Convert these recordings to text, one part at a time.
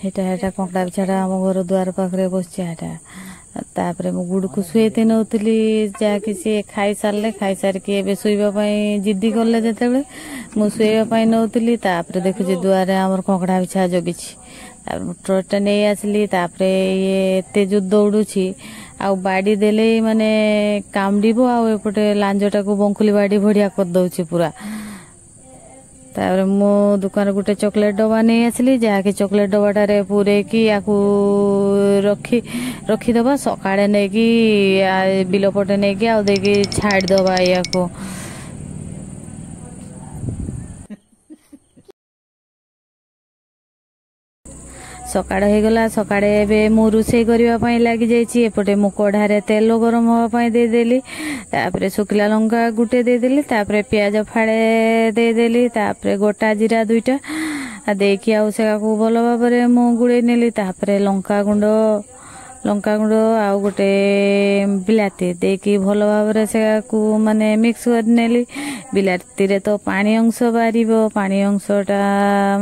ହେଟା ହେଟା କଙ୍କଡ଼ା ବିଛାଟା ଆମ ଘର ଦୁଆର ପାଖରେ ବସିଛି ହେଟା। ତାପରେ ମୁଁ ଗୁଡ଼କୁ ଶୁଏଇତେ ନେଉଥିଲି, ଯାହାକି ସିଏ ଖାଇସାରିଲେ। ଖାଇସାରିକି ଏବେ ଶୋଇବା ପାଇଁ ଜିଦ୍ଦି କଲେ। ଯେତେବେଳେ ମୁଁ ଶୋଇବା ପାଇଁ ନେଉଥିଲି, ତାପରେ ଦେଖୁଛି ଦୁଆରେ ଆମର କଙ୍କଡ଼ା ବିଛା ଜଗିଛି। ତାପରେ ମୁଁ ଟ୍ରଚଟା ନେଇ ଆସିଲି। ତାପରେ ଇଏ ଏତେ ଯୋଉ ଦୌଡୁଛି, ଆଉ ବାଡ଼ି ଦେଲେ ମାନେ କାମୁଡ଼ିବ, ଆଉ ଏପଟେ ଲାଞ୍ଜଟାକୁ ବଙ୍କୁଲି ବାଡ଼ି ଭଳିଆ କରିଦଉଛି ପୁରା। ତାପରେ ମୁଁ ଦୋକାନରୁ ଗୋଟେ ଚକୋଲେଟ୍ ଡବା ନେଇ ଆସିଲି, ଯାହାକି ଚକୋଲେଟ୍ ଡବାଟାରେ ପୂରେଇକି ୟାକୁ ରଖିଦବା। ସକାଳେ ନେଇକି ବିଲ ପଟେ ନେଇକି ଆଉ ଦେଇକି ଛାଡ଼ିଦବା ୟାକୁ। ସକାଳ ହେଇଗଲା। ସକାଳେ ଏବେ ମୁଁ ରୋଷେଇ କରିବା ପାଇଁ ଲାଗିଯାଇଛି। ଏପଟେ ମୁଁ କଢ଼ାରେ ତେଲ ଗରମ ହେବା ପାଇଁ ଦେଇଦେଲି। ତାପରେ ଶୁଖିଲା ଲଙ୍କା ଗୋଟେ ଦେଇଦେଲି। ତାପରେ ପିଆଜ ଫାଳେ ଦେଇଦେଲି। ତାପରେ ଗୋଟା ଜିରା 2ଟା ଦେଇକି ଆଉ ସେଟାକୁ ଭଲ ଭାବରେ ମୁଁ ଗୋଳେଇ ନେଲି। ତାପରେ ଲଙ୍କାଗୁଣ୍ଡ ଆଉ ଗୋଟେ ବିଲାତି ଦେଇକି ଭଲ ଭାବରେ ସେଟାକୁ ମାନେ ମିକ୍ସ କରିନେଲି। ବିଲାତିରେ ତ ପାଣି ଅଂଶ ବାହାରିବ, ପାଣି ଅଂଶଟା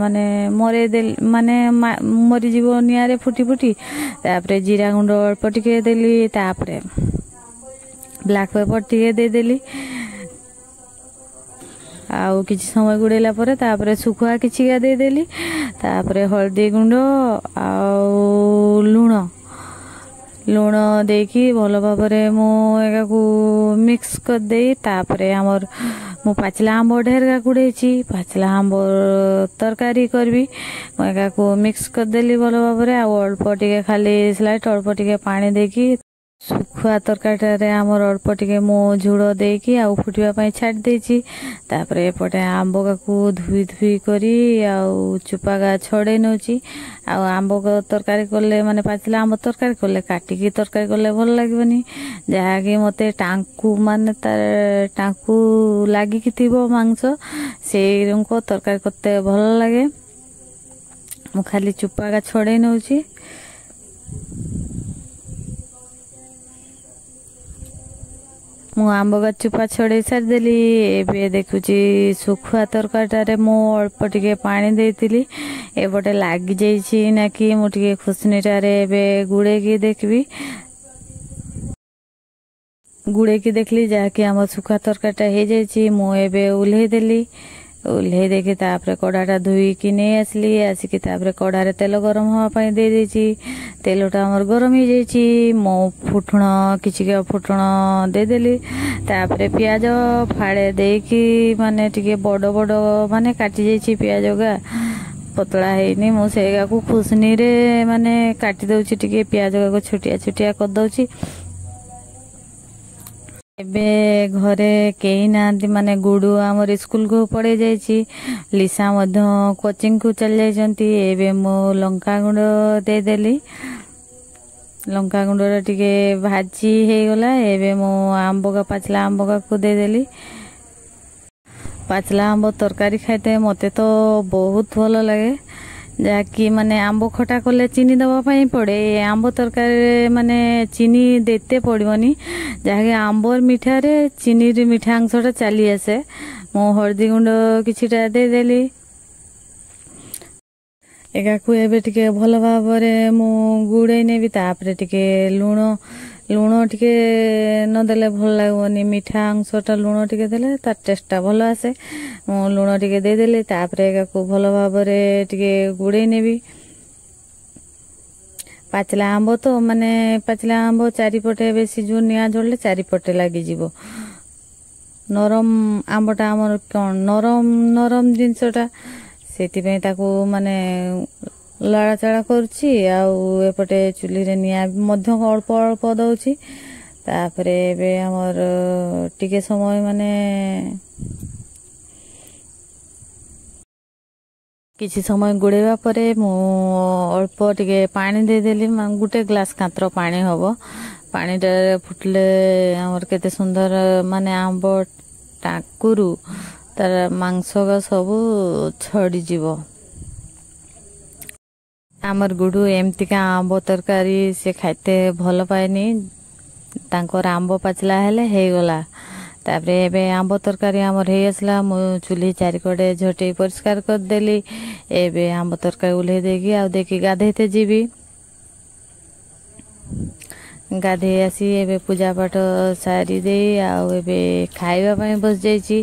ମାନେ ମରେଇଦେଲି, ମାନେ ମରିଯିବ ନିଆଁରେ ଫୁଟି ଫୁଟି। ତାପରେ ଜିରା ଗୁଣ୍ଡ ଅଳ୍ପ ଟିକେ ଦେଲି। ତାପରେ ବ୍ଲାକ୍ ପେପର ଟିକେ ଦେଇଦେଲି। ଆଉ କିଛି ସମୟ ଗୁଡ଼େଇଲା ପରେ ତାପରେ ଶୁଖୁଆ କିଛିକା ଦେଇଦେଲି। ତାପରେ ହଳଦୀ ଗୁଣ୍ଡ ଆଉ ଲୁଣ ଦେଇକି ଭଲ ଭାବରେ ମୁଁ ଏହାକୁ ମିକ୍ସ କରିଦେଇ, ତାପରେ ଆମର ମୁଁ ପାଚିଲା ଆମ୍ବ ଢେରକା କୁଡ଼େଇଛି, ପାଚିଲା ଆମ୍ବ ତରକାରୀ କରିବି। ମୁଁ ଏହାକୁ ମିକ୍ସ କରିଦେଲି ଭଲ ଭାବରେ, ଆଉ ଅଳ୍ପ ଟିକେ ଖାଲି ସ୍ଲାଇଟ୍ ଅଳ୍ପ ଟିକେ ପାଣି ଦେଇକି ଶୁଖୁଆ ତରକାରୀଟାରେ ଆମର ଅଳ୍ପ ଟିକେ ମୁଁ ଝୋଳ ଦେଇକି ଆଉ ଫୁଟିବା ପାଇଁ ଛାଡ଼ି ଦେଇଛି। ତାପରେ ଏପଟେ ଆମ୍ବକୁ ଧୋଇ ଧୋଇ କରି ଆଉ ଚୋପାଗା ଛଡ଼େଇ ନେଉଛି। ଆଉ ଆମ୍ବ ତରକାରୀ କଲେ, ମାନେ ପାଚିଲା ଆମ୍ବ ତରକାରୀ କଲେ, କାଟିକି ତରକାରୀ କଲେ ଭଲ ଲାଗିବନି। ଯାହାକି ମୋତେ ଟାଙ୍କୁ ମାନେ ତାର ଟାଙ୍କୁ ଲାଗିକି ଥିବ ମାଂସ, ସେଇଙ୍କ ତରକାରୀ କରତେ ଭଲ ଲାଗେ। ମୁଁ ଖାଲି ଚୋପାଗା ଛଡ଼େଇ ନେଉଛି। ମୁଁ ଆମ୍ବ ଗଛ ଚୋପା ଛଡ଼େଇ ସାରିଦେଲି। ଏବେ ଦେଖୁଛି ଶୁଖୁଆ ତରକାରୀଟାରେ ମୁଁ ଅଳ୍ପ ଟିକେ ପାଣି ଦେଇଥିଲି, ଏପଟେ ଲାଗିଯାଇଛି ନା କି ମୁଁ ଟିକେ ଖୁସନିଟାରେ ଏବେ ଗୁଡ଼େଇକି ଦେଖିବି। ଗୁଡ଼େଇକି ଦେଖିଲି, ଯାହାକି ଆମ ଶୁଖୁଆ ତରକାରୀଟା ହେଇଯାଇଛି। ମୁଁ ଏବେ ଓହ୍ଲେଇ ଦେଲି। ଓହ୍ଲେଇ ଦେଇକି ତାପରେ କଢ଼ାଟା ଧୋଇକି ନେଇ ଆସିଲି। ଆସିକି ତାପରେ କଢ଼ାରେ ତେଲ ଗରମ ହେବା ପାଇଁ ଦେଇଦେଇଛି। ତେଲଟା ଆମର ଗରମ ହେଇଯାଇଛି। ମୁଁ ଫୁଟଣ କିଛି ଫୁଟଣ ଦେଇଦେଲି। ତାପରେ ପିଆଜ ଫାଳେ ଦେଇକି, ମାନେ ଟିକେ ବଡ଼ ବଡ଼ ମାନେ କାଟି ଯାଇଛି ପିଆଜ ଗା, ପତଳା ହେଇନି। ମୁଁ ସେଇଗାକୁ ଖୁସନିରେ ମାନେ କାଟି ଦେଉଛି, ଟିକେ ପିଆଜ ଗାକୁ ଛୋଟିଆ ଛୋଟିଆ କରିଦେଉଛି। ଏବେ ଘରେ କେହି ନାହାନ୍ତି, ମାନେ ଗୁଡୁ ଆମର ସ୍କୁଲକୁ ପଳେଇ ଯାଇଛି, ଲିସା ମଧ୍ୟ କୋଚିଂକୁ ଚାଲି ଯାଇଛନ୍ତି। ଏବେ ମୁଁ ଲଙ୍କାଗୁଣ୍ଡ ଦେଇଦେଲି। ଲଙ୍କାଗୁଣ୍ଡଟା ଟିକେ ଭାଜି ହେଇଗଲା। ଏବେ ମୁଁ ଆମ୍ବକା ପାଚିଲା ଆମ୍ବକାକୁ ଦେଇଦେଲି। ପାଚିଲା ଆମ୍ବ ତରକାରୀ ଖାଇତେ ମୋତେ ତ ବହୁତ ଭଲ ଲାଗେ। ଯାହାକି ମାନେ ଆମ୍ବ ଖଟା କଲେ ଚିନି ଦେବା ପାଇଁ ପଡ଼େ, ଏ ଆମ୍ବ ତରକାରୀରେ ମାନେ ଚିନି ଦେତେ ପଡ଼ିବନି, ଯାହାକି ଆମ୍ବର ମିଠାରେ ଚିନିର ମିଠା ଅଂଶଟା ଚାଲି ଆସେ। ମୁଁ ହଳଦୀ ଗୁଣ୍ଡ କିଛିଟା ଦେଇଦେଲି। ଏହାକୁ ଏବେ ଟିକେ ଭଲ ଭାବରେ ମୁଁ ଗୁଡ଼େଇ ନେବି। ତାପରେ ଟିକେ ଲୁଣ ଟିକେ ନଦେଲେ ଭଲ ଲାଗିବନି। ମିଠା ଅଂଶଟା ଲୁଣ ଟିକେ ଦେଲେ ତାର ଟେଷ୍ଟଟା ଭଲ ଆସେ। ମୁଁ ଲୁଣ ଟିକେ ଦେଇଦେଲି। ତାପରେ ଏହାକୁ ଭଲ ଭାବରେ ଟିକେ ଗୁଡ଼େଇ ନେବି। ପାଚିଲା ଆମ୍ବ ତ, ମାନେ ପାଚିଲା ଆମ୍ବ ଚାରିପଟେ ବେଶୀ ଯୋଉ ନିଆଁ ଜଳିଲେ ଚାରିପଟେ ଲାଗିଯିବ। ନରମ ଆମ୍ବଟା ଆମର କ'ଣ ନରମ ନରମ ଜିନିଷଟା, ସେଥିପାଇଁ ତାକୁ ମାନେ ଲଡ଼ାଚଡ଼ା କରୁଛି, ଆଉ ଏପଟେ ଚୁଲିରେ ନିଆଁ ମଧ୍ୟ ଅଳ୍ପ ଅଳ୍ପ ଦେଉଛି। ତାପରେ ଏବେ ଆମର ଟିକେ ସମୟ, ମାନେ କିଛି ସମୟ ଗୋଳେଇବା ପରେ ମୁଁ ଅଳ୍ପ ଟିକେ ପାଣି ଦେଇଦେଲି, ଗୋଟେ ଗ୍ଲାସ୍ କାତ୍ର ପାଣି ହେବ। ପାଣିଟା ଫୁଟିଲେ ଆମର କେତେ ସୁନ୍ଦର ମାନେ ଆମ୍ବ ଟାକୁରୁ ତାର ମାଂସ ସବୁ ଛଡ଼ିଯିବ। ଆମର ଗୁଡୁ ଏମିତିକା ଆମ୍ବ ତରକାରୀ ସେ ଖାଇତେ ଭଲ ପାଏନି। ତାଙ୍କର ଆମ୍ବ ପାଚିଲା ହେଲେ ହେଇଗଲା, ତାପରେ ଏବେ ଆମ୍ବ ତରକାରୀ ଆମର ହେଇ ଆସିଲା। ମୁଁ ଚୁଲି ଚାରିକଡ଼େ ଝୋଟେଇ ପରିଷ୍କାର କରିଦେଲି। ଏବେ ଆମ୍ବ ତରକାରୀ ଓହ୍ଲେଇ ଦେଇକି ଆଉ ଦେଇକି ଗାଧେଇତେ ଯିବି। ଗାଧେଇ ଆସି ଏବେ ପୂଜା ପାଠ ସାରି ଦେଇ ଆଉ ଏବେ ଖାଇବା ପାଇଁ ବସିଯାଇଛି।